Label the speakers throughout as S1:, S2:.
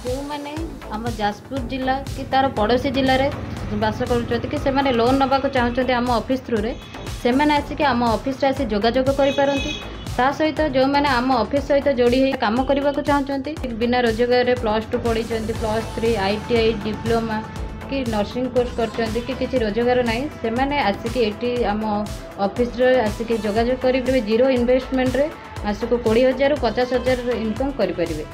S1: ଯେଉଁମାନେ ଆମ ଯାଜପୁର ଜିଲ୍ଲା କି ତା'ର ପଡ଼ୋଶୀ ଜିଲ୍ଲାରେ ବାସ କରୁଛନ୍ତି କି ସେମାନେ ଲୋନ୍ ନେବାକୁ ଚାହୁଁଛନ୍ତି ଆମ ଅଫିସ୍ ଥ୍ରୁରେ, ସେମାନେ ଆସିକି ଆମ ଅଫିସରେ ଆସି ଯୋଗାଯୋଗ କରିପାରନ୍ତି। ତା ସହିତ ଯେଉଁମାନେ ଆମ ଅଫିସ୍ ସହିତ ଯୋଡ଼ି ହୋଇ କାମ କରିବାକୁ ଚାହୁଁଛନ୍ତି, ବିନା ରୋଜଗାରରେ +2 ପଢ଼ିଛନ୍ତି, +3, ITI, diploma କି ନର୍ସିଂ କୋର୍ସ କରିଛନ୍ତି କି କିଛି ରୋଜଗାର ନାହିଁ, ସେମାନେ ଆସିକି ଏଠି ଆମ ଅଫିସରେ ଆସିକି ଯୋଗାଯୋଗ କରିପାରିବେ। ଜିରୋ ଇନଭେଷ୍ଟମେଣ୍ଟରେ ମାସକୁ 20,000ରୁ 50,000 ଇନକମ୍ କରିପାରିବେ।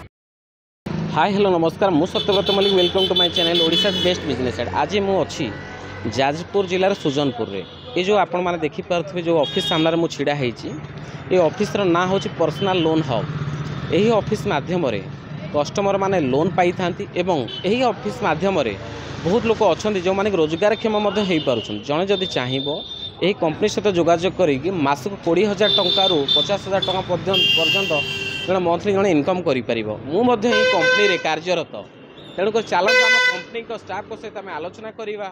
S2: ହାଇ, ହ୍ୟାଲୋ, ନମସ୍କାର। ମୁଁ Satyabrata Mallick. Welcome to my channel, Odisha's best business add. ଆଜି ମୁଁ ଅଛି ଯାଜପୁର ଜିଲ୍ଲାର ସୁଜନପୁରରେ। ଏ ଯେଉଁ ଆପଣମାନେ ଦେଖିପାରୁଥିବେ, ଯେଉଁ ଅଫିସ୍ ସାମ୍ନାରେ ମୁଁ ଛିଡ଼ା ହେଇଛି, ଏ ଅଫିସର ନାଁ ହେଉଛି ପର୍ସନାଲ୍ ଲୋନ୍ ହବ୍। ଏହି ଅଫିସ୍ ମାଧ୍ୟମରେ କଷ୍ଟମର ମାନେ ଲୋନ୍ ପାଇଥାନ୍ତି ଏବଂ ଏହି ଅଫିସ୍ ମାଧ୍ୟମରେ ବହୁତ ଲୋକ ଅଛନ୍ତି ଯେଉଁମାନେ କି ରୋଜଗାରକ୍ଷମ ମଧ୍ୟ ହୋଇପାରୁଛନ୍ତି। ଜଣେ ଯଦି ଚାହିଁବ, ଏହି କମ୍ପାନୀ ସହିତ ଯୋଗାଯୋଗ କରିକି ମାସକୁ 20,000 ଟଙ୍କାରୁ 50,000 ଟଙ୍କା ପର୍ଯ୍ୟନ୍ତ ଜଣେ ମନ୍ଥଲି ଜଣେ ଇନକମ୍ କରିପାରିବ। ମୁଁ ମଧ୍ୟ ଏହି କମ୍ପାନୀରେ କାର୍ଯ୍ୟରତ। ତେଣୁକରି ଚାଲନ୍ତୁ, ଆମ କମ୍ପାନୀଙ୍କ ଷ୍ଟାଫ୍ଙ୍କ ସହିତ ଆମେ ଆଲୋଚନା କରିବା,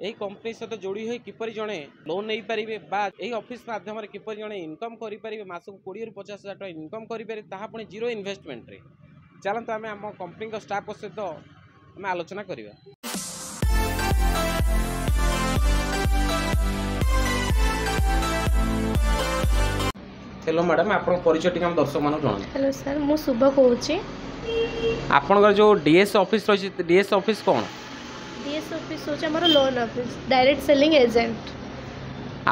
S2: ଏହି କମ୍ପାନୀ ସହିତ ଯୋଡ଼ି ହୋଇ କିପରି ଜଣେ ଲୋନ୍ ନେଇପାରିବେ ବା ଏହି ଅଫିସ୍ ମାଧ୍ୟମରେ କିପରି ଜଣେ ଇନକମ୍ କରିପାରିବେ, ମାସକୁ 20ରୁ 50 ହଜାର ଟଙ୍କା ଇନକମ୍ କରିପାରିବେ, ତାହା ପୁଣି ଜିରୋ ଇନଭେଷ୍ଟମେଣ୍ଟରେ। ଚାଲନ୍ତୁ, ଆମେ ଆମ କମ୍ପାନୀଙ୍କ ଷ୍ଟାଫ୍ଙ୍କ ସହିତ ଆମେ ଆଲୋଚନା କରିବା। ହ୍ୟାଲୋ ମ୍ୟାଡ଼ାମ୍, ଆପଣଙ୍କ ପରିଚୟ ଟିକେ ଆମ ଦର୍ଶକମାନଙ୍କୁ ଜଣାନ୍ତୁ।
S3: ହ୍ୟାଲୋ ସାର୍, ମୁଁ ଶୁଭ କହୁଛି।
S2: ଆପଣଙ୍କର ଯେଉଁ ଡିଏସ୍ ଅଫିସ୍ ରହିଛି, ଡିଏସ୍ ଅଫିସ୍ କ'ଣ?
S3: ଡିଏସ୍ ଅଫିସ୍ ହେଉଛି ଆମର loan office, direct selling agent.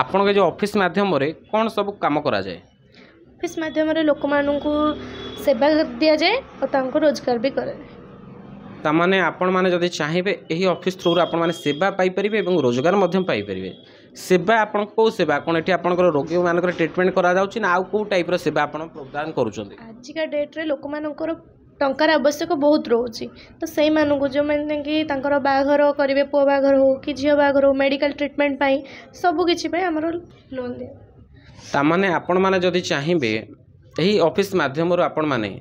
S2: ଆପଣଙ୍କ ଯେଉଁ ଅଫିସ୍ ମାଧ୍ୟମରେ କ'ଣ ସବୁ କାମ କରାଯାଏ?
S3: ଅଫିସ୍ ମାଧ୍ୟମରେ ଲୋକମାନଙ୍କୁ ସେବା ଦିଆଯାଏ ଆଉ ତାଙ୍କୁ ରୋଜଗାର ବି କରାଯାଏ।
S2: ତାମାନେ ଆପଣମାନେ ଯଦି ଚାହିଁବେ, ଏହି ଅଫିସ୍ ଥ୍ରୁରୁ ଆପଣମାନେ ସେବା ପାଇପାରିବେ ଏବଂ ରୋଜଗାର ମଧ୍ୟ ପାଇପାରିବେ। ସେବା ଆପଣଙ୍କ କେଉଁ ସେବା? କ'ଣ ଏଠି ଆପଣଙ୍କର ରୋଗୀମାନଙ୍କର ଟ୍ରିଟମେଣ୍ଟ କରାଯାଉଛି ନା ଆଉ କେଉଁ ଟାଇପ୍ର ସେବା ଆପଣ ପ୍ରଦାନ କରୁଛନ୍ତି?
S3: ଆଜିକା ଡେଟ୍ରେ ଲୋକମାନଙ୍କର ଟଙ୍କାର ଆବଶ୍ୟକ ବହୁତ ରହୁଛି। ତ ସେଇମାନଙ୍କୁ, ଯେଉଁମାନେ କି ତାଙ୍କର ବାହାଘର କରିବେ, ପୁଅ ବାହାଘର ହେଉ କି ଝିଅ ବାହାଘର ହେଉ, ମେଡ଼ିକାଲ ଟ୍ରିଟମେଣ୍ଟ ପାଇଁ, ସବୁ କିଛି ପାଇଁ ଆମର ଲୋନ୍ ଦିଆ।
S2: ତାମାନେ ଆପଣମାନେ ଯଦି ଚାହିଁବେ, ଏହି ଅଫିସ୍ ମାଧ୍ୟମରୁ ଆପଣମାନେ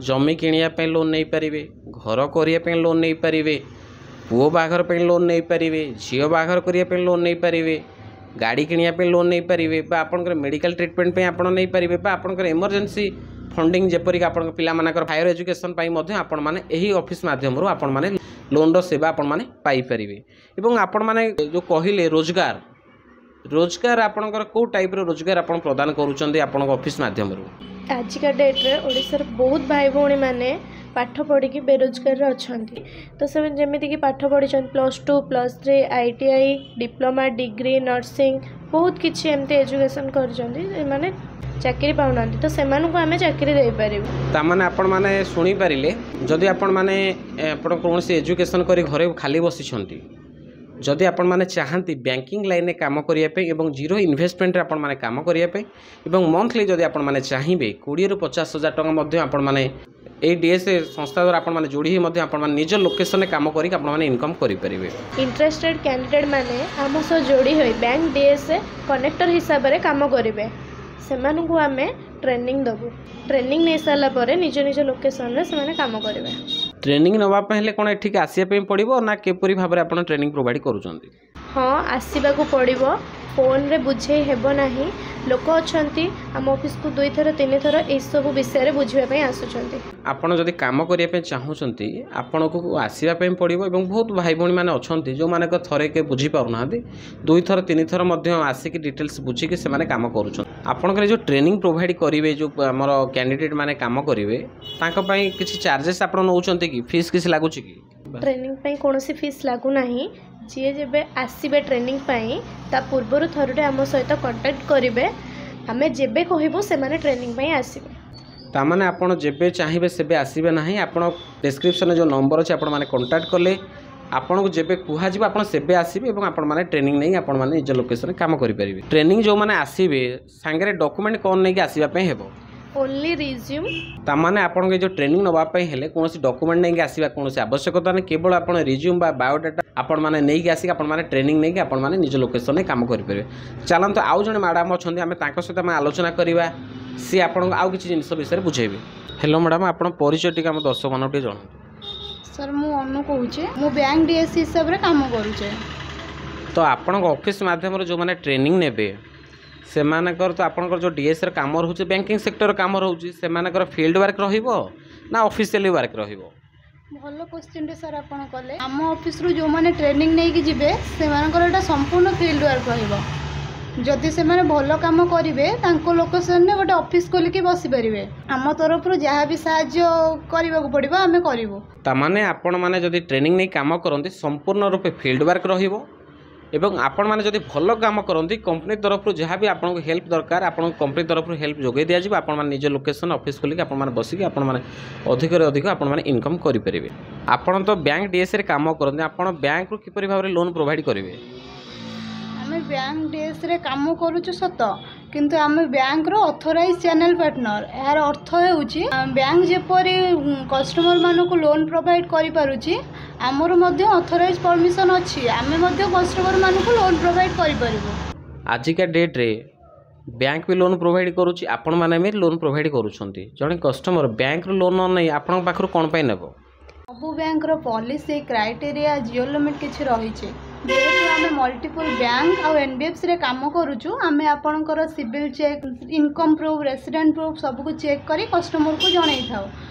S2: ଜମି କିଣିବା ପାଇଁ ଲୋନ୍ ନେଇପାରିବେ, ଘର କରିବା ପାଇଁ ଲୋନ୍ ନେଇପାରିବେ, ପୁଅ ବାହାଘର ପାଇଁ ଲୋନ୍ ନେଇପାରିବେ, ଝିଅ ବାହାଘର କରିବା ପାଇଁ ଲୋନ୍ ନେଇପାରିବେ, ଗାଡ଼ି କିଣିବା ପାଇଁ ଲୋନ୍ ନେଇପାରିବେ ବା ଆପଣଙ୍କର ମେଡ଼ିକାଲ ଟ୍ରିଟମେଣ୍ଟ ପାଇଁ ଆପଣ ନେଇପାରିବେ ବା ଆପଣଙ୍କର ଏମର୍ଜେନ୍ସି ଫଣ୍ଡିଂ, ଯେପରିକି ଆପଣଙ୍କ ପିଲାମାନଙ୍କର ହାୟର ଏଜୁକେସନ୍ ପାଇଁ ମଧ୍ୟ ଆପଣମାନେ ଏହି ଅଫିସ୍ ମାଧ୍ୟମରୁ ଆପଣମାନେ ଲୋନ୍ର ସେବା ଆପଣମାନେ ପାଇପାରିବେ। ଏବଂ ଆପଣମାନେ ଯେଉଁ କହିଲେ ରୋଜଗାର, ରୋଜଗାର ଆପଣଙ୍କର କେଉଁ ଟାଇପ୍ର ରୋଜଗାର ଆପଣ ପ୍ରଦାନ କରୁଛନ୍ତି ଆପଣଙ୍କ ଅଫିସ୍ ମାଧ୍ୟମରୁ?
S3: ଆଜିକା ଡେଟ୍ରେ ଓଡ଼ିଶାର ବହୁତ ଭାଇ ଭଉଣୀମାନେ ପାଠ ପଢ଼ିକି ବେରୋଜଗାରରେ ଅଛନ୍ତି। ତ ସେମାନେ ଯେମିତିକି ପାଠ ପଢ଼ିଛନ୍ତି +2, +3, ITI, diploma, degree, nursing, ବହୁତ କିଛି ଏମିତି ଏଜୁକେସନ୍ କରିଛନ୍ତି, ସେମାନେ ଚାକିରି ପାଉନାହାନ୍ତି। ତ ସେମାନଙ୍କୁ ଆମେ ଚାକିରି ଦେଇପାରିବୁ।
S2: ତାମାନେ ଆପଣମାନେ ଶୁଣିପାରିଲେ, ଯଦି ଆପଣମାନେ ଆପଣ କୌଣସି ଏଜୁକେସନ୍ କରି ଘରେ ଖାଲି ବସିଛନ୍ତି, ଯଦି ଆପଣମାନେ ଚାହାନ୍ତି ବ୍ୟାଙ୍କିଂ ଲାଇନ୍ରେ କାମ କରିବା ପାଇଁ ଏବଂ ଜିରୋ ଇନଭେଷ୍ଟମେଣ୍ଟରେ ଆପଣମାନେ କାମ କରିବା ପାଇଁ ଏବଂ ମନ୍ଥଲି ଯଦି ଆପଣମାନେ ଚାହିଁବେ 20ରୁ 50 ହଜାର ଟଙ୍କା ମଧ୍ୟ ଆପଣମାନେ ଏଇ ଡିଏସ୍ ସଂସ୍ଥା ଦ୍ୱାରା ଆପଣମାନେ ଯୋଡ଼ି ହୋଇ ମଧ୍ୟ ଆପଣମାନେ ନିଜ ଲୋକେସନରେ କାମ କରିକି ଆପଣମାନେ ଇନକମ୍ କରିପାରିବେ।
S3: ଇଣ୍ଟରେଷ୍ଟେଡ଼ କ୍ୟାଣ୍ଡିଡେଟ୍ ମାନେ ଆମ ସହ ଯୋଡ଼ି ହୋଇ ବ୍ୟାଙ୍କ ଡିଏସ୍ଏ କନେକ୍ଟର ହିସାବରେ କାମ କରିବେ। ସେମାନଙ୍କୁ ଆମେ ଟ୍ରେନିଂ ଦେବୁ। ଟ୍ରେନିଂ ନେଇସାରିଲା ପରେ ନିଜ ନିଜ ଲୋକେସନରେ ସେମାନେ କାମ କରିବେ।
S2: ଟ୍ରେନିଂ ନେବା ପାଇଁ ହେଲେ କ'ଣ ଏଠିକି ଆସିବା ପାଇଁ ପଡ଼ିବ ନା କିପରି ଭାବରେ ଆପଣ ଟ୍ରେନିଂ ପ୍ରୋଭାଇଡ଼ କରୁଛନ୍ତି?
S3: ହଁ, ଆସିବାକୁ ପଡ଼ିବ। ଫୋନ୍ରେ ବୁଝେଇ ହେବ ନାହିଁ। ଲୋକ ଅଛନ୍ତି, ଆମ ଅଫିସକୁ ଦୁଇଥର ତିନିଥର ଏଇସବୁ ବିଷୟରେ ବୁଝିବା ପାଇଁ ଆସୁଛନ୍ତି।
S2: ଆପଣ ଯଦି କାମ କରିବା ପାଇଁ ଚାହୁଁଛନ୍ତି, ଆପଣଙ୍କୁ ଆସିବା ପାଇଁ ପଡ଼ିବ। ଏବଂ ବହୁତ ଭାଇ ଭଉଣୀମାନେ ଅଛନ୍ତି ଯେଉଁମାନଙ୍କ ଥରେ କେ ବୁଝିପାରୁନାହାନ୍ତି, ଦୁଇଥର ତିନିଥର ମଧ୍ୟ ଆସିକି ଡିଟେଲ୍ସ ବୁଝିକି ସେମାନେ କାମ କରୁଛନ୍ତି। ଆପଣଙ୍କର ଯେଉଁ ଟ୍ରେନିଂ ପ୍ରୋଭାଇଡ଼ କରିବେ, ଯେଉଁ ଆମର କ୍ୟାଣ୍ଡିଡେଟ୍ ମାନେ କାମ କରିବେ, ତାଙ୍କ ପାଇଁ କିଛି ଚାର୍ଜେସ୍ ଆପଣ ନେଉଛନ୍ତି କି? ଫିସ୍ କିଛି ଲାଗୁଛି କି?
S3: ଟ୍ରେନିଂ ପାଇଁ କୌଣସି ଫିସ୍ ଲାଗୁନାହିଁ। ଯିଏ ଯେବେ ଆସିବେ ଟ୍ରେନିଂ ପାଇଁ, ତା ପୂର୍ବରୁ ଥରୁଟେ ଆମ ସହିତ କଣ୍ଟାକ୍ଟ କରିବେ। ଆମେ ଯେବେ କହିବୁ, ସେମାନେ ଟ୍ରେନିଂ ପାଇଁ ଆସିବେ।
S2: ତାମାନେ ଆପଣ ଯେବେ ଚାହିଁବେ ସେବେ ଆସିବେ ନାହିଁ। ଆପଣ ଡେସ୍କ୍ରିପସନ୍ରେ ଯେଉଁ ନମ୍ବର ଅଛି, ଆପଣମାନେ କଣ୍ଟାକ୍ଟ କଲେ ଆପଣଙ୍କୁ ଯେବେ କୁହାଯିବ, ଆପଣ ସେବେ ଆସିବେ ଏବଂ ଆପଣମାନେ ଟ୍ରେନିଂ ନେଇ ଆପଣମାନେ ନିଜ ଲୋକେସନରେ କାମ କରିପାରିବେ। ଟ୍ରେନିଂ ଯେଉଁମାନେ ଆସିବେ, ସାଙ୍ଗରେ ଡକୁମେଣ୍ଟ କ'ଣ ନେଇକି ଆସିବା ପାଇଁ ହେବ?
S3: Only resume.
S2: ତାମାନେ ଆପଣଙ୍କ ଏ ଯେଉଁ ଟ୍ରେନିଂ ନେବା ପାଇଁ ହେଲେ କୌଣସି ଡକୁମେଣ୍ଟ ନେଇକି ଆସିବା କୌଣସି ଆବଶ୍ୟକତା ନାହିଁ। କେବଳ ଆପଣ ରିଜ୍ୟୁମ୍ ବା ବାୟୋଡାଟା ଆପଣମାନେ ନେଇକି ଆସିକି ଆପଣମାନେ ଟ୍ରେନିଂ ନେଇକି ଆପଣମାନେ ନିଜ ଲୋକେସନରେ କାମ କରିପାରିବେ। ଚାଲନ୍ତୁ, ଆଉ ଜଣେ ମ୍ୟାଡ଼ାମ୍ ଅଛନ୍ତି, ଆମେ ତାଙ୍କ ସହିତ ଆମେ ଆଲୋଚନା କରିବା। ସିଏ ଆପଣଙ୍କୁ ଆଉ କିଛି ଜିନିଷ ବିଷୟରେ ବୁଝେଇବେ। ହ୍ୟାଲୋ ମ୍ୟାଡ଼ାମ୍, ଆପଣ ପରିଚୟ ଟିକେ ଆମ ଦର୍ଶକମାନଙ୍କୁ ଟିକେ ଜଣାନ୍ତୁ।
S4: ସାର୍, ମୁଁ ଅନୁ କହୁଛି। ମୁଁ ବ୍ୟାଙ୍କ ଡିଏସ୍ ହିସାବରେ କାମ କରୁଛି।
S2: ତ ଆପଣଙ୍କ ଅଫିସ୍ ମାଧ୍ୟମରେ ଯେଉଁମାନେ ଟ୍ରେନିଂ ନେବେ, ସେମାନଙ୍କର ତ ଆପଣଙ୍କର ଯେଉଁ ଡିଏସ୍ର କାମ ରହୁଛି, ବ୍ୟାଙ୍କିଂ ସେକ୍ଟର କାମ ରହୁଛି, ସେମାନଙ୍କର ଫିଲ୍ଡ ୱାର୍କ ରହିବ ନା ଅଫିସିଆଲି ୱାର୍କ ରହିବ?
S4: ଭଲ କୋଶ୍ଚିନ୍ଟେ ସାର୍ ଆପଣ କଲେ। ଆମ ଅଫିସରୁ ଯେଉଁମାନେ ଟ୍ରେନିଂ ନେଇକି ଯିବେ, ସେମାନଙ୍କର ଏଇଟା ସମ୍ପୂର୍ଣ୍ଣ ଫିଲ୍ଡ ୱାର୍କ ରହିବ। ଯଦି ସେମାନେ ଭଲ କାମ କରିବେ, ତାଙ୍କ ଲୋକେସନରେ ଗୋଟେ ଅଫିସ୍ ଖୋଲିକି ବସିପାରିବେ। ଆମ ତରଫରୁ ଯାହା ବି ସାହାଯ୍ୟ କରିବାକୁ ପଡ଼ିବ, ଆମେ କରିବୁ।
S2: ତାମାନେ ଆପଣମାନେ ଯଦି ଟ୍ରେନିଂ ନେଇ କାମ କରନ୍ତି, ସମ୍ପୂର୍ଣ୍ଣ ରୂପେ ଫିଲ୍ଡ ୱାର୍କ ରହିବ ଏବଂ ଆପଣମାନେ ଯଦି ଭଲ କାମ କରନ୍ତି, କମ୍ପାନୀ ତରଫରୁ ଯାହା ବି ଆପଣଙ୍କୁ ହେଲ୍ପ ଦରକାର, ଆପଣଙ୍କୁ କମ୍ପାନୀ ତରଫରୁ ହେଲ୍ପ ଯୋଗାଇ ଦିଆଯିବ। ଆପଣମାନେ ନିଜ ଲୋକେସନ୍ ଅଫିସ୍ ଖୋଲିକି ଆପଣମାନେ ବସିକି ଆପଣମାନେ ଅଧିକରୁ ଅଧିକ ଆପଣମାନେ ଇନକମ୍ କରିପାରିବେ। ଆପଣ ତ ବ୍ୟାଙ୍କ ଡିଏସ୍ରେ କାମ କରନ୍ତି, ଆପଣ ବ୍ୟାଙ୍କରୁ କିପରି ଭାବରେ ଲୋନ୍ ପ୍ରୋଭାଇଡ଼ କରିବେ?
S4: ଆମେ ବ୍ୟାଙ୍କ ଡିଏସ୍ରେ କାମ କରୁଛୁ ସତ, କିନ୍ତୁ ଆମେ ବ୍ୟାଙ୍କର ଅଥରାଇଜ୍ ଚ୍ୟାନେଲ୍ ପାର୍ଟନର। ଏହାର ଅର୍ଥ ହେଉଛି, ବ୍ୟାଙ୍କ ଯେପରି କଷ୍ଟମରମାନଙ୍କୁ ଲୋନ୍ ପ୍ରୋଭାଇଡ଼ କରିପାରୁଛି, ଆମର ମଧ୍ୟ ଅଥରାଇଜ୍ ପରମିସନ୍ ଅଛି। ଆମେ ମଧ୍ୟ କଷ୍ଟମରମାନଙ୍କୁ ଲୋନ୍ ପ୍ରୋଭାଇଡ଼ କରିପାରିବୁ।
S2: ଆଜିକା ଡେଟ୍ରେ ବ୍ୟାଙ୍କ ବି ଲୋନ୍ ପ୍ରୋଭାଇଡ଼ କରୁଛି, ଆପଣମାନେ ବି ଲୋନ୍ ପ୍ରୋଭାଇଡ଼ କରୁଛନ୍ତି। ଜଣେ କଷ୍ଟମର ବ୍ୟାଙ୍କରୁ ଲୋନ୍ ନ ନେଇ ଆପଣଙ୍କ ପାଖରୁ କ'ଣ ପାଇଁ ନେବ?
S4: ସବୁ ବ୍ୟାଙ୍କର ପଲିସି, କ୍ରାଇଟେରିଆ, ଜିରୋ ଲିମିଟ୍ କିଛି ରହିଛି। ଯେହେତୁ ଆମେ ମଲ୍ଟିପୁଲ୍ ବ୍ୟାଙ୍କ ଆଉ ଏନ୍ବିଏଫ୍ସିରେ କାମ କରୁଛୁ, ଆମେ ଆପଣଙ୍କର CIBIL check, income proof, resident proof ସବୁକୁ ଚେକ୍ କରି କଷ୍ଟମରକୁ ଜଣାଇଥାଉ।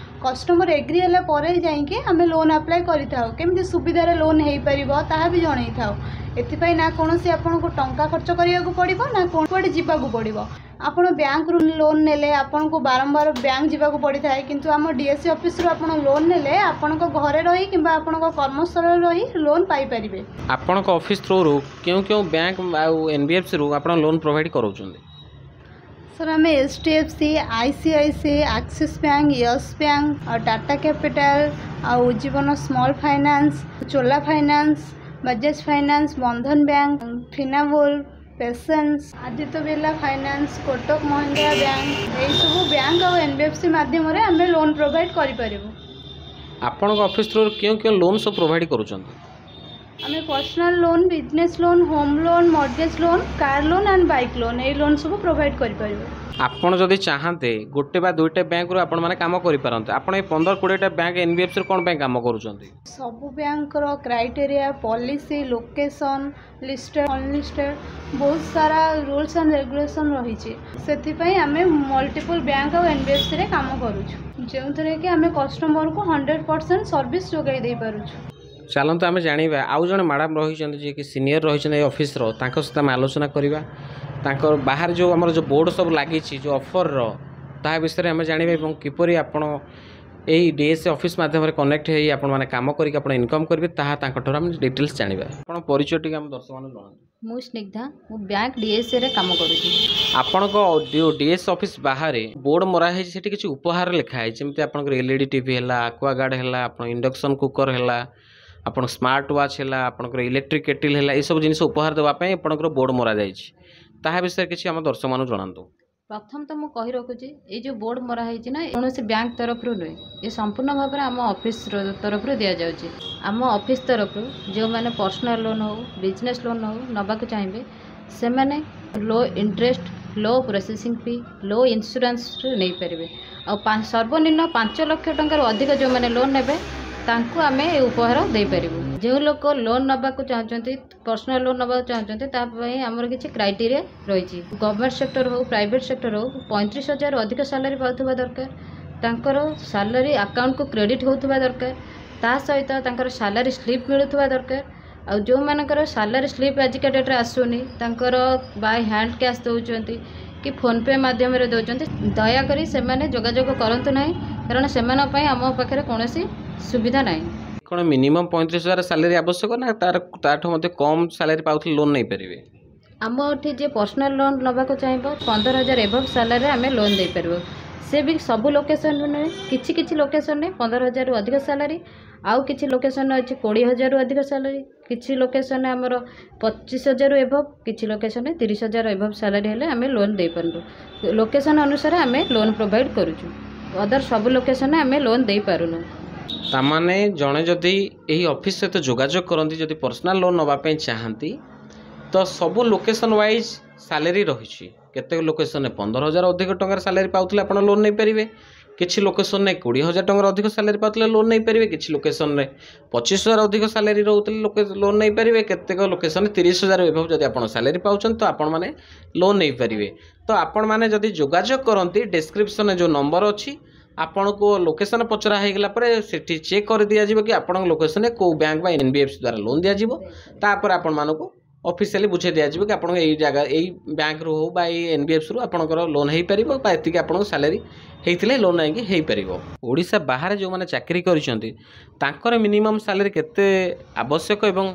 S4: କଷ୍ଟମର ଏଗ୍ରି ହେଲା ପରେ ଯାଇକି ଆମେ ଲୋନ୍ ଆପ୍ଲାଏ କରିଥାଉ। କେମିତି ସୁବିଧାରେ ଲୋନ୍ ହେଇପାରିବ, ତାହା ବି ଜଣାଇଥାଉ। ଏଥିପାଇଁ ନା କୌଣସି ଆପଣଙ୍କୁ ଟଙ୍କା ଖର୍ଚ୍ଚ କରିବାକୁ ପଡ଼ିବ, ନା କୁଆଡ଼େ ଯିବାକୁ ପଡ଼ିବ। ଆପଣ ବ୍ୟାଙ୍କରୁ ଲୋନ୍ ନେଲେ ଆପଣଙ୍କୁ ବାରମ୍ବାର ବ୍ୟାଙ୍କ ଯିବାକୁ ପଡ଼ିଥାଏ, କିନ୍ତୁ ଆମ ଡିଏସ୍ସି ଅଫିସରୁ ଆପଣ ଲୋନ୍ ନେଲେ ଆପଣଙ୍କ ଘରେ ରହି କିମ୍ବା ଆପଣଙ୍କ କର୍ମସ୍ଥଳରେ ରହି ଲୋନ୍ ପାଇପାରିବେ।
S2: ଆପଣଙ୍କ ଅଫିସ୍ ଥ୍ରୁରୁ କେଉଁ କେଉଁ ବ୍ୟାଙ୍କ ଆଉ ଏନ୍ବିଏଫ୍ସିରୁ ଆପଣ ଲୋନ୍ ପ୍ରୋଭାଇଡ଼ କରାଉଛନ୍ତି?
S4: ସାର୍, ଆମେ HDFC, ICICI, Axis bank, Yes bank ଆଉ ଟାଟା କ୍ୟାପିଟାଲ ଆଉ Ujjivan Small Finance, Chola Finance, Bajaj Finance, Bandhan Bank, Finnable, PaySense, Aditya Birla Finance, Kotak Mahindra Bank, ଏଇସବୁ ବ୍ୟାଙ୍କ ଆଉ ଏନ୍ବିଏଫ୍ସି ମାଧ୍ୟମରେ ଆମେ ଲୋନ୍ ପ୍ରୋଭାଇଡ଼ କରିପାରିବୁ।
S2: ଆପଣଙ୍କ ଅଫିସ୍ ଥ୍ରୁରୁ କେଉଁ କେଉଁ ଲୋନ୍ ସବୁ ପ୍ରୋଭାଇଡ଼ କରୁଛନ୍ତି?
S4: ଆମେ personal loan, business loan, home loan, mortgage loan, car loan and bike loan, ଏଇ ଲୋନ୍ ସବୁ ପ୍ରୋଭାଇଡ଼ କରିପାରିବୁ।
S2: ଆପଣ ଯଦି ଚାହାନ୍ତେ, ଗୋଟେ ବା ଦୁଇଟା ବ୍ୟାଙ୍କରୁ ଆପଣମାନେ କାମ କରିପାରନ୍ତେ। ଆପଣ ଏଇ 15-20ଟା ବ୍ୟାଙ୍କ ଏନ୍ବିଏଫ୍ସିରୁ କ'ଣ ପାଇଁ କାମ କରୁଛନ୍ତି?
S4: ସବୁ ବ୍ୟାଙ୍କର criteria, policy, location, listed, unlisted, ବହୁତ ସାରା ରୁଲ୍ସ ଆଣ୍ଡ ରେଗୁଲେସନ୍ ରହିଛି। ସେଥିପାଇଁ ଆମେ ମଲ୍ଟିପୁଲ୍ ବ୍ୟାଙ୍କ ଆଉ ଏନ୍ବିଏଫ୍ସିରେ କାମ କରୁଛୁ, ଯେଉଁଥିରେ କି ଆମେ କଷ୍ଟମରକୁ 100% ସର୍ଭିସ୍ ଯୋଗାଇ ଦେଇପାରୁଛୁ।
S2: ଚାଲନ୍ତୁ ଆମେ ଜାଣିବା, ଆଉ ଜଣେ ମ୍ୟାଡ଼ାମ୍ ରହିଛନ୍ତି, ଯିଏକି ସିନିୟର ରହିଛନ୍ତି ଏଇ ଅଫିସର, ତାଙ୍କ ସହିତ ଆମେ ଆଲୋଚନା କରିବା। ତାଙ୍କର ବାହାରେ ଯେଉଁ ଆମର ଯେଉଁ ବୋର୍ଡ଼ ସବୁ ଲାଗିଛି ଯେଉଁ ଅଫର୍ର, ତାହା ବିଷୟରେ ଆମେ ଜାଣିବା ଏବଂ କିପରି ଆପଣ ଏଇ ଡିଏସ୍ସି ଅଫିସ୍ ମାଧ୍ୟମରେ କନେକ୍ଟ ହେଇ ଆପଣମାନେ କାମ କରିକି ଆପଣ ଇନକମ୍ କରିବେ, ତାହା ତାଙ୍କଠାରୁ ଆମେ ଡିଟେଲ୍ସ ଜାଣିବା। ଆପଣ ପରିଚୟ ଟିକେ ଆମ ଦର୍ଶକମାନଙ୍କୁ ଜଣାନ୍ତୁ।
S1: ମୁଁ ସ୍ନିଗ୍ଧା, ମୁଁ ବ୍ୟାଙ୍କ ଡିଏସ୍ସିରେ କାମ କରୁଛି।
S2: ଆପଣଙ୍କ ଯେଉଁ ଡିଏସ୍ ଅଫିସ୍ ବାହାରେ ବୋର୍ଡ଼ ମରା ହେଇଛି, ସେଠି କିଛି ଉପହାର ଲେଖା ହେଇଛି, ଯେମିତି ଆପଣଙ୍କର ଏଲ୍ଇଡି ଟିଭି ହେଲା, ଆକ୍ୱାଗାର୍ଡ଼ ହେଲା, ଆପଣ ଇଣ୍ଡକ୍ସନ୍ କୁକର୍ ହେଲା, ଆପଣ ସ୍ମାର୍ଟ ୱାଚ୍ ହେଲା, ଆପଣଙ୍କର ଇଲେକ୍ଟ୍ରିକ୍ କେଟିଲ୍ ହେଲା, ଏସବୁ ଜିନିଷ ଉପହାର ଦେବା ପାଇଁ ଆପଣଙ୍କର ବୋର୍ଡ଼ ମରାଯାଇଛି। ତାହା ବିଷୟରେ କିଛି ଆମ ଦର୍ଶକମାନଙ୍କୁ ଜଣାନ୍ତୁ।
S1: ପ୍ରଥମ ତ ମୁଁ କହି ରଖୁଛି, ଏଇ ଯେଉଁ ବୋର୍ଡ଼ ମରା ହେଇଛି ନା, କୌଣସି ବ୍ୟାଙ୍କ ତରଫରୁ ନୁହେଁ। ଏ ସମ୍ପୂର୍ଣ୍ଣ ଭାବରେ ଆମ ଅଫିସ ତରଫରୁ ଦିଆଯାଉଛି। ଆମ ଅଫିସ ତରଫରୁ ଯେଉଁମାନେ ପର୍ସନାଲ୍ ଲୋନ୍ ହେଉ, ବିଜନେସ୍ ଲୋନ୍ ହେଉ ନେବାକୁ ଚାହିଁବେ, ସେମାନେ low interest, low processing fee, low ଇନ୍ସୁରାନ୍ସରେ ନେଇପାରିବେ। ଆଉ ସର୍ବନିମ୍ନ 5 ଲକ୍ଷ ଟଙ୍କାରୁ ଅଧିକ ଯେଉଁମାନେ ଲୋନ୍ ନେବେ, ତାଙ୍କୁ ଆମେ ଏ ଉପହାର ଦେଇପାରିବୁ। ଯେଉଁ ଲୋକ ଲୋନ୍ ନେବାକୁ ଚାହୁଁଛନ୍ତି, ପର୍ସନାଲ୍ ଲୋନ୍ ନେବାକୁ ଚାହୁଁଛନ୍ତି, ତା ପାଇଁ ଆମର କିଛି କ୍ରାଇଟେରିଆ ରହିଛି। ଗଭର୍ଣ୍ଣମେଣ୍ଟ ସେକ୍ଟର ହେଉ, ପ୍ରାଇଭେଟ୍ ସେକ୍ଟର ହେଉ, 35,000 ଅଧିକ ସାଲାରୀ ପାଉଥିବା ଦରକାର। ତାଙ୍କର ସାଲାରୀ ଆକାଉଣ୍ଟକୁ କ୍ରେଡ଼ିଟ୍ ହେଉଥିବା ଦରକାର। ତା ସହିତ ତାଙ୍କର ସାଲାରୀ ସ୍ଲିପ୍ ମିଳୁଥିବା ଦରକାର। ଆଉ ଯେଉଁମାନଙ୍କର ସାଲାରୀ ସ୍ଲିପ୍ ଆଜିକା ଡେଟ୍ରେ ଆସୁନି, ତାଙ୍କର ବାଇ ହ୍ୟାଣ୍ଡ କ୍ୟାସ୍ ଦେଉଛନ୍ତି କି ଫୋନ୍ପେ ମାଧ୍ୟମରେ ଦେଉଛନ୍ତି, ଦୟାକରି ସେମାନେ ଯୋଗାଯୋଗ କରନ୍ତୁ ନାହିଁ, କାରଣ ସେମାନଙ୍କ ପାଇଁ ଆମ ପାଖରେ କୌଣସି ସୁବିଧା ନାହିଁ।
S2: କ'ଣ ମିନିମମ୍ 35,000 ସାଲାରୀ ଆବଶ୍ୟକ, ନା ତାର ତାଠୁ ମଧ୍ୟ କମ୍ ସାଲାରୀ ପାଉଥିଲେ ଲୋନ୍ ନେଇପାରିବେ?
S1: ଆମ ଏଠି ଯିଏ ପର୍ସନାଲ୍ ଲୋନ୍ ନେବାକୁ ଚାହିଁବ, 15,000 ଏବଭ୍ ସାଲାରୀରେ ଆମେ ଲୋନ୍ ଦେଇପାରିବୁ। ସେ ବି ସବୁ ଲୋକେସନ୍ରେ ନୁହେଁ, କିଛି କିଛି ଲୋକେସନ୍ରେ 15,000ରୁ ଅଧିକ ସାଲାରୀ, ଆଉ କିଛି ଲୋକେସନ୍ରେ ଅଛି 20,000ରୁ ଅଧିକ ସାଲାରୀ, କିଛି ଲୋକେସନ୍ରେ ଆମର 25,000ରୁ ଏବଭ୍, କିଛି ଲୋକେସନ୍ରେ 30,000 ଏବଭ୍ ସାଲାରୀ ହେଲେ ଆମେ ଲୋନ୍ ଦେଇପାରୁ। ଲୋକେସନ୍ ଅନୁସାରେ ଆମେ ଲୋନ୍ ପ୍ରୋଭାଇଡ଼ କରୁଛୁ। ଅଦର ସବୁ ଲୋକେସନ୍ରେ ଆମେ ଲୋନ୍ ଦେଇପାରୁନୁ।
S2: ତାମାନେ ଜଣେ ଯଦି ଏହି ଅଫିସ୍ ସହିତ ଯୋଗାଯୋଗ କରନ୍ତି, ଯଦି ପର୍ସନାଲ୍ ଲୋନ୍ ନେବା ପାଇଁ ଚାହାନ୍ତି, ତ ସବୁ ଲୋକେସନ୍ ୱାଇଜ୍ ସାଲାରୀ ରହିଛି। କେତେକ ଲୋକେସନ୍ରେ 15,000 ଅଧିକ ଟଙ୍କାର ସାଲାରୀ ପାଉଥିଲେ ଆପଣ ଲୋନ୍ ନେଇପାରିବେ, କିଛି ଲୋକେସନ୍ରେ 20,000 ଟଙ୍କାର ଅଧିକ ସାଲାରୀ ପାଉଥିଲେ ଲୋନ୍ ନେଇପାରିବେ, କିଛି ଲୋକେସନ୍ରେ 25,000 ଅଧିକ ସାଲାରୀ ରହୁଥିଲେ ଲୋକେ ଲୋନ୍ ନେଇପାରିବେ, କେତେକ ଲୋକେସନ୍ରେ 30,000 ଏଭବ୍ ଯଦି ଆପଣ ସାଲାରୀ ପାଉଛନ୍ତି, ତ ଆପଣମାନେ ଲୋନ୍ ନେଇପାରିବେ। ତ ଆପଣମାନେ ଯଦି ଯୋଗାଯୋଗ କରନ୍ତି, ଡେସ୍କ୍ରିପସନ୍ରେ ଯେଉଁ ନମ୍ବର ଅଛି, ଆପଣଙ୍କୁ ଲୋକେସନ୍ ପଚରା ହେଇଗଲା ପରେ ସେଠି ଚେକ୍ କରିଦିଆଯିବ କି ଆପଣଙ୍କ ଲୋକେସନ୍ରେ କେଉଁ ବ୍ୟାଙ୍କ ବା ଏନ୍ବିଏଫ୍ସି ଦ୍ୱାରା ଲୋନ୍ ଦିଆଯିବ। ତାପରେ ଆପଣମାନଙ୍କୁ ଅଫିସିଆଲି ବୁଝେଇ ଦିଆଯିବ କି ଆପଣଙ୍କ ଏଇ ଜାଗା, ଏଇ ବ୍ୟାଙ୍କରୁ ହେଉ ବା ଏଇ ଏନ୍ବିଏଫ୍ସିରୁ ଆପଣଙ୍କର ଲୋନ୍ ହେଇପାରିବ ବା ଏତିକି ଆପଣଙ୍କ ସାଲାରୀ ହେଇଥିଲେ ଲୋନ୍ ଆଣିକି ହେଇପାରିବ। ଓଡ଼ିଶା ବାହାରେ ଯେଉଁମାନେ ଚାକିରି କରିଛନ୍ତି, ତାଙ୍କର ମିନିମମ୍ ସାଲାରୀ କେତେ ଆବଶ୍ୟକ ଏବଂ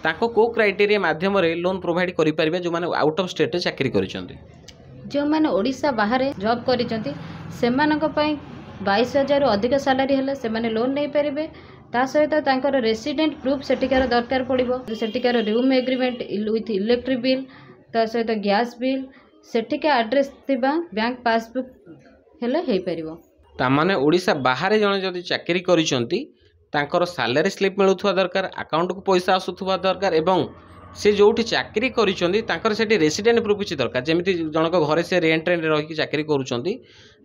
S2: ତାଙ୍କ କେଉଁ କ୍ରାଇଟେରିଆ ମାଧ୍ୟମରେ ଲୋନ୍ ପ୍ରୋଭାଇଡ଼ କରିପାରିବେ, ଯେଉଁମାନେ ଆଉଟ୍ ଅଫ୍ ଷ୍ଟେଟ୍ରେ ଚାକିରି କରିଛନ୍ତି?
S1: ଯେଉଁମାନେ ଓଡ଼ିଶା ବାହାରେ ଜବ୍ କରିଛନ୍ତି, ସେମାନଙ୍କ ପାଇଁ 22,000ରୁ ଅଧିକ ସାଲାରୀ ହେଲେ ସେମାନେ ଲୋନ୍ ନେଇପାରିବେ। ତା ସହିତ ତାଙ୍କର ରେସିଡେଣ୍ଟ ପ୍ରୁଫ୍ ସେଠିକାର ଦରକାର ପଡ଼ିବ। ସେଠିକାର room agreement with electric bill, ତା ସହିତ ଗ୍ୟାସ୍ ବିଲ୍, ସେଠିକା ଆଡ୍ରେସ୍ ଥିବା ବ୍ୟାଙ୍କ ପାସବୁକ୍ ହେଲେ ହେଇପାରିବ।
S2: ତାମାନେ ଓଡ଼ିଶା ବାହାରେ ଜଣେ ଯଦି ଚାକିରି କରିଛନ୍ତି, ତାଙ୍କର ସାଲାରୀ ସ୍ଲିପ୍ ମିଳୁଥିବା ଦରକାର, ଆକାଉଣ୍ଟକୁ ପଇସା ଆସୁଥିବା ଦରକାର ଏବଂ ସେ ଯେଉଁଠି ଚାକିରି କରିଛନ୍ତି ତାଙ୍କର ସେଠି ରେସିଡେଣ୍ଟ ପ୍ରୁଫ୍ କିଛି ଦରକାର। ଯେମିତି ଜଣଙ୍କ ଘରେ ସେ ରେଣ୍ଟରେ ରହିକି ଚାକିରି କରୁଛନ୍ତି,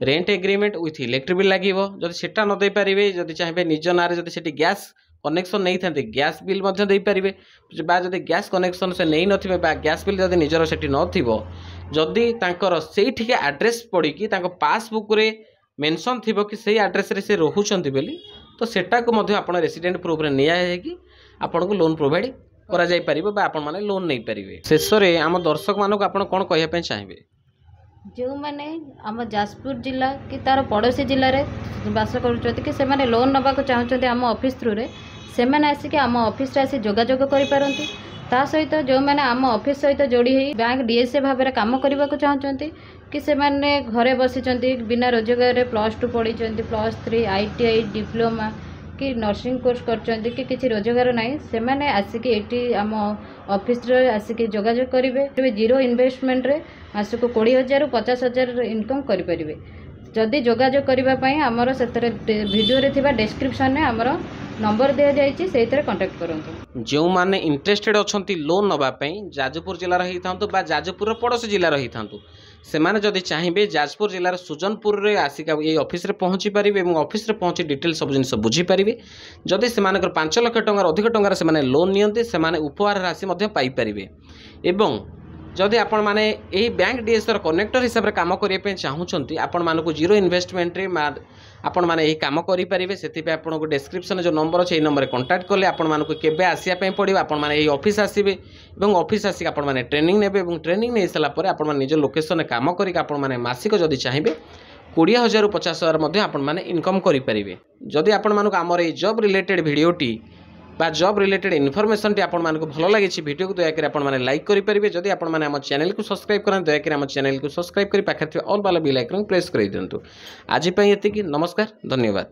S2: rent agreement with electric bill ଲାଗିବ। ଯଦି ସେଟା ନ ଦେଇପାରିବେ, ଯଦି ଚାହିଁବେ ନିଜ ନାଁରେ ଯଦି ସେଠି ଗ୍ୟାସ୍ କନେକ୍ସନ୍ ନେଇଥାନ୍ତି, ଗ୍ୟାସ୍ ବିଲ୍ ମଧ୍ୟ ଦେଇପାରିବେ। ବା ଯଦି ଗ୍ୟାସ୍ କନେକ୍ସନ୍ ସେ ନେଇନଥିବେ ବା ଗ୍ୟାସ୍ ବିଲ୍ ଯଦି ନିଜର ସେଠି ନଥିବ, ଯଦି ତାଙ୍କର ସେଇଠିକି ଆଡ୍ରେସ୍ ପଡ଼ିକି ତାଙ୍କ ପାସବୁକ୍ରେ ମେନସନ୍ ଥିବ କି ସେଇ ଆଡ୍ରେସ୍ରେ ସେ ରହୁଛନ୍ତି ବୋଲି, ତ ସେଟାକୁ ମଧ୍ୟ ଆପଣ ରେସିଡେଣ୍ଟ ପ୍ରୁଫ୍ରେ ନିଆଯାଇକି ଆପଣଙ୍କୁ ଲୋନ୍ ପ୍ରୋଭାଇଡ଼ କରାଯାଇପାରିବ ବା ଆପଣମାନେ ଲୋନ୍ ନେଇପାରିବେ। ଶେଷରେ ଆମ ଦର୍ଶକମାନଙ୍କୁ ଆପଣ କ'ଣ କହିବା ପାଇଁ ଚାହିଁବେ?
S1: ଯେଉଁମାନେ ଆମ ଯାଜପୁର ଜିଲ୍ଲା କି ତା'ର ପଡ଼ୋଶୀ ଜିଲ୍ଲାରେ ବାସ କରୁଛନ୍ତି କି ସେମାନେ ଲୋନ୍ ନେବାକୁ ଚାହୁଁଛନ୍ତି ଆମ ଅଫିସ୍ ଥ୍ରୁରେ, ସେମାନେ ଆସିକି ଆମ ଅଫିସରେ ଆସି ଯୋଗାଯୋଗ କରିପାରନ୍ତି। ତା ସହିତ ଯେଉଁମାନେ ଆମ ଅଫିସ୍ ସହିତ ଯୋଡ଼ି ହେଇ ବ୍ୟାଙ୍କ ଡିଏସ୍ଏ ଭାବରେ କାମ କରିବାକୁ ଚାହୁଁଛନ୍ତି କି ସେମାନେ ଘରେ ବସିଛନ୍ତି ବିନା ରୋଜଗାରରେ, +2 ପଢ଼ିଛନ୍ତି, +3, ଆଇଟିଆଇ, ଡିପ୍ଲୋମା କି ନର୍ସିଂ କୋର୍ସ କରିଛନ୍ତି କି କିଛି ରୋଜଗାର ନାହିଁ, ସେମାନେ ଆସିକି ଏଇଠି ଆମ ଅଫିସରେ ଆସିକି ଯୋଗାଯୋଗ କରିବେ। ଜିରୋ ଇନଭେଷ୍ଟମେଣ୍ଟରେ ମାସକୁ 20,000ରୁ 50,000 ଇନକମ୍ କରିପାରିବେ। ଯଦି ଯୋଗାଯୋଗ କରିବା ପାଇଁ ଆମର ସେଥିରେ ଭିଡ଼ିଓରେ ଥିବା ଡେସ୍କ୍ରିପସନ୍ରେ ଆମର ନମ୍ବର ଦିଆଯାଇଛି, ସେଇଥିରେ କଣ୍ଟାକ୍ଟ କରନ୍ତୁ।
S2: ଯେଉଁମାନେ ଇଣ୍ଟରେଷ୍ଟେଡ଼ ଅଛନ୍ତି ଲୋନ୍ ନେବା ପାଇଁ, ଯାଜପୁର ଜିଲ୍ଲାର ହେଇଥାନ୍ତୁ ବା ଯାଜପୁରର ପଡ଼ୋଶୀ ଜିଲ୍ଲାର ହେଇଥାନ୍ତୁ, ସେମାନେ ଯଦି ଚାହିଁବେ ଯାଜପୁର ଜିଲ୍ଲାର ସୁଜନପୁରରେ ଆସିକି ଏଇ ଅଫିସରେ ପହଞ୍ଚି ପାରିବେ ଏବଂ ଅଫିସରେ ପହଞ୍ଚି ଡିଟେଲ୍ ସବୁ ଜିନିଷ ବୁଝିପାରିବେ। ଯଦି ସେମାନଙ୍କର 5 ଲକ୍ଷ ଟଙ୍କାର ଅଧିକ ଟଙ୍କାର ସେମାନେ ଲୋନ୍ ନିଅନ୍ତି, ସେମାନେ ଉପହାର ରାଶି ମଧ୍ୟ ପାଇପାରିବେ। ଏବଂ ଯଦି ଆପଣମାନେ ଏହି ବ୍ୟାଙ୍କ ଡିଏସ୍ର କନେକ୍ଟର ହିସାବରେ କାମ କରିବା ପାଇଁ ଚାହୁଁଛନ୍ତି, ଆପଣମାନଙ୍କୁ ଜିରୋ ଇନଭେଷ୍ଟମେଣ୍ଟରେ ଆପଣମାନେ ଏହି କାମ କରିପାରିବେ। ସେଥିପାଇଁ ଆପଣଙ୍କୁ ଡେସ୍କ୍ରିପସନ୍ରେ ଯେଉଁ ନମ୍ବର ଅଛି, ଏହି ନମ୍ବରରେ କଣ୍ଟାକ୍ଟ କଲେ ଆପଣମାନଙ୍କୁ କେବେ ଆସିବା ପାଇଁ ପଡ଼ିବ, ଆପଣମାନେ ଏହି ଅଫିସ୍ ଆସିବେ ଏବଂ ଅଫିସ୍ ଆସିକି ଆପଣମାନେ ଟ୍ରେନିଂ ନେବେ ଏବଂ ଟ୍ରେନିଂ ନେଇସାରିଲା ପରେ ଆପଣମାନେ ନିଜ ଲୋକେସନରେ କାମ କରିକି ଆପଣମାନେ ମାସିକ ଯଦି ଚାହିଁବେ 20,000ରୁ 50,000 ମଧ୍ୟ ଆପଣମାନେ ଇନକମ୍ କରିପାରିବେ। ଯଦି ଆପଣମାନଙ୍କୁ ଆମର ଏଇ ଜବ୍ ରିଲେଟେଡ଼୍ ଭିଡ଼ିଓଟି ବା ଜବ୍ ରିଲେଟେଡ଼୍ ଇନଫର୍ମେସନ୍ଟି ଆପଣମାନଙ୍କୁ ଭଲ ଲାଗିଛି, ଭିଡ଼ିଓକୁ ଦୟାକରି ଆପଣମାନେ ଲାଇକ୍ କରିପାରିବେ। ଯଦି ଆପଣମାନେ ଆମ ଚ୍ୟାନେଲକୁ ସବସ୍କ୍ରାଇବ୍ କରନ୍ତି, ଦୟାକରି ଆମ ଚ୍ୟାନେଲକୁ ସବସ୍କ୍ରାଇବ୍ କରି ପାଖରେ ଥିବା ଅଲ୍ ବାଲା ବେଲ୍ ଆଇକନ୍ ପ୍ରେସ୍ କରିଦିଅନ୍ତୁ। ଆଜି ପାଇଁ ଏତିକି। ନମସ୍କାର, ଧନ୍ୟବାଦ।